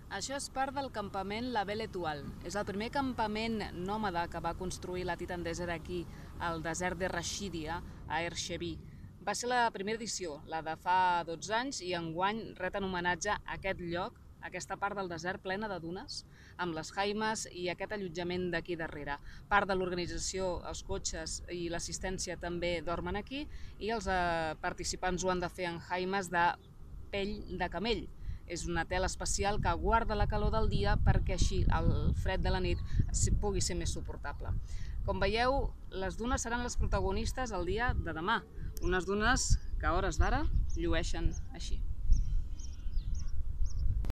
Això és part del campament La Belle Étoile. És el primer campament nòmada que va construir la Titan Desert aquí, al desert de Rashidia, a Ersheby. Va ser la primera edició, la de fa 12 anys, i enguany ret en homenatge a aquest lloc, aquesta part del desert plena de dunes, amb les jaimes i aquest allotjament d'aquí darrere. Part de l'organització, els cotxes i l'assistència també dormen aquí i els participants ho han de fer en jaimes de pell de camell. És una tela especial que guarda la calor del dia perquè així el fred de la nit pugui ser més suportable. Com veieu, les dunes seran les protagonistes el dia de demà. Unes dunes que a hores d'ara llueixen així.